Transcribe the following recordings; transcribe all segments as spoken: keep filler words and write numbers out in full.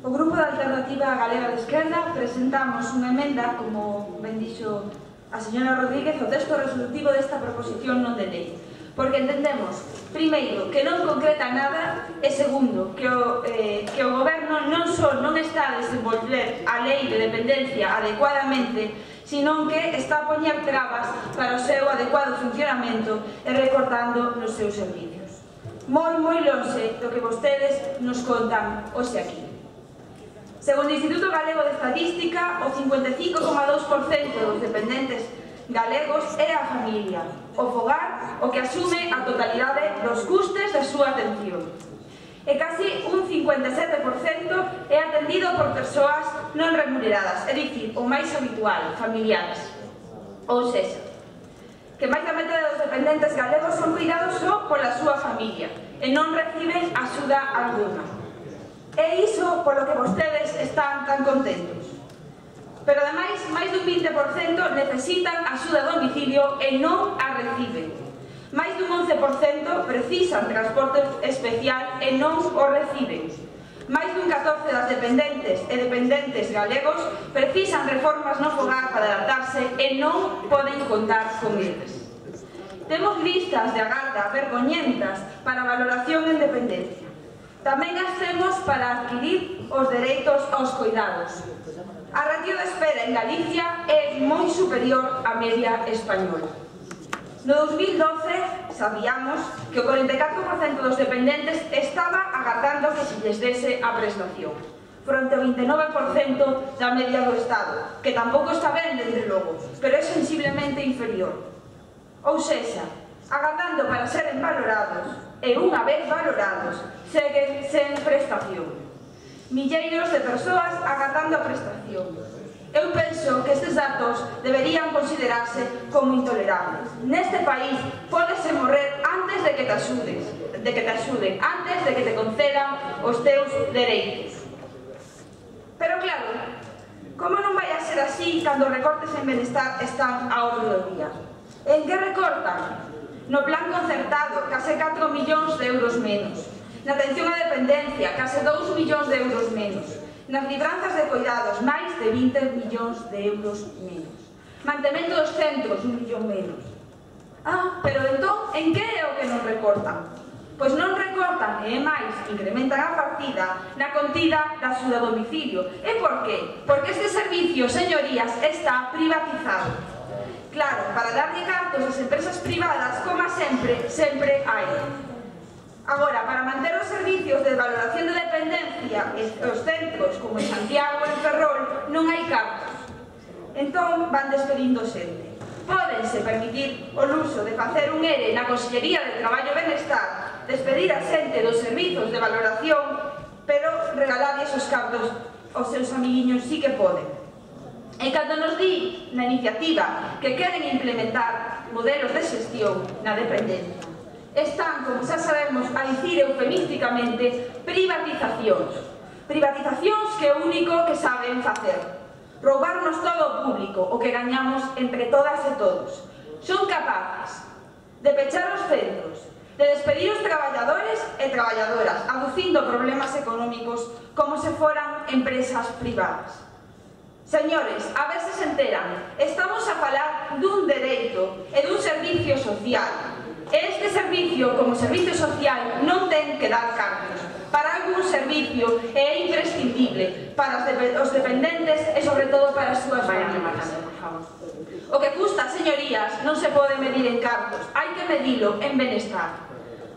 O Grupo da Alternativa Galega de Esquerda presentamos unha emenda, como ben dixo a señora Rodríguez, o texto resolutivo desta proposición non de lei, porque entendemos, primeiro, que non concreta nada e segundo, que o, eh, que o Goberno non só non está a desenvolver a lei de dependencia adecuadamente, sino que está a poñer trabas para o seu adecuado funcionamento e recortando nos seus servicios. Moi, moi lonxe do que vostedes nos contan hoxe aquí. Segundo o Instituto Galego de Estatística, o cincuenta e cinco coma dous por cento dos dependentes galegos é a familia, o fogar, o que asume a totalidade dos custes da súa atención. E casi un cincuenta e sete por cento é atendido por persoas non remuneradas, é dicir, o máis habitual, familiares. Ou seja, que máis da metade dos dependentes galegos son cuidados só pola súa familia e non reciben axuda alguna. É iso polo que vostedes están tan contentos. Pero ademais, máis dun vinte por cento necesitan axuda a domicilio e non a reciben. Máis dun once por cento precisan transporte especial e non o reciben. Máis dun catorce por cento das dependentes e dependentes galegos precisan reformas no fogar para adaptarse e non poden contar con eles. Temos listas de agarda vergoñentas para valoración en dependencia. Tamén as temos para adquirir os dereitos aos cuidados. A ratio de espera en Galicia é moi superior á media española. No dos mil doce sabíamos que o corenta e catro por cento dos dependentes estaba agardando que se lles dese a prestación, fronte ao vinte e nove por cento da media do Estado, que tampouco está ben, desde logo, pero é sensiblemente inferior. Ou seja, agardando para seren valorados, e unha vez valorados, seguen sen prestación. Milleiros de persoas agardando a prestación. Eu penso que estes datos deberían considerarse como intolerables. Neste país pódese morrer antes de que te axudes, de que te axuden, antes de que te concedan os teus dereitos. Pero claro, como non vai a ser así cando os recortes en benestar están a orde do día? En que recortan? No plan concertado, case catro millóns de euros menos. Na atención á dependencia, case dous millóns de euros menos. Nas libranzas de cuidados, máis de vinte millóns de euros menos. Mantemento dos centros, un millón menos. Ah, pero entón, en que é o que non recortan? Pois non recortan, e máis, incrementan a partida na contida da axuda a domicilio. E por qué? Porque este servicio, señorías, está privatizado. Claro, para darlle cartos ás empresas privadas, como sempre, sempre hai. Agora, para manter os servicios de valoración de dependencia os centros, como en Santiago e en Ferrol, non hai cartos. Entón, van despedindo xente. Pódense permitir o luxo de facer un ere na Consellería de Traballo e Benestar, despedir a xente dos servizos de valoración, pero regalarlles os cartos aos seus amiguiños sí que poden. E cando nos di na iniciativa que queren implementar modelos de xestión na dependencia, están, como xa sabemos, a dicir eufemísticamente privatizacións. Privatizacións que é o único que saben facer. Roubarnos todo o público, o que gañamos entre todas e todos. Son capaces de pechar os centros, de despedir os traballadores e traballadoras, aducindo problemas económicos como se foran empresas privadas. Señores, a ver se se enteran, estamos a falar dun dereito e dun servicio social. Este servicio, como servicio social, non ten que dar cartos. Para algún servicio é imprescindible para os dependentes e, sobre todo, para as súas familias. O que custa, señorías, non se pode medir en cartos, hai que medilo en benestar.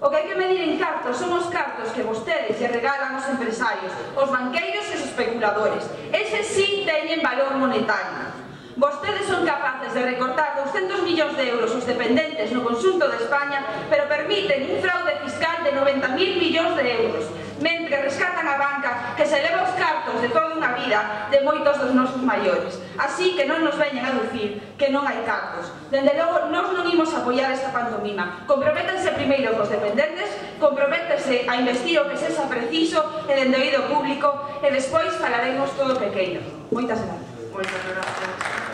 O que hai que medir en cartos son os cartos que vostedes lle regalan aos empresarios, os banqueiros e os especuladores. Ese sí teñen valor monetario. Vostedes son capaces de recortar doscientos millóns de euros os dependentes no conxunto de España, pero permiten un fraude fiscal de noventa mil millóns de euros, mentre rescatan a banca que se leva os cartos de toda unha vida de moitos dos nosos maiores. Así que non nos veñan a dicir que non hai cartos. Dende logo, nós non imos apoiar esta pantomima. Comprométanse primeiro cos dependentes, comprométanse a investir o que sexa preciso e dende o oído público, e despois falaremos todo pequeno. Moitas gracias. Moitas gracias.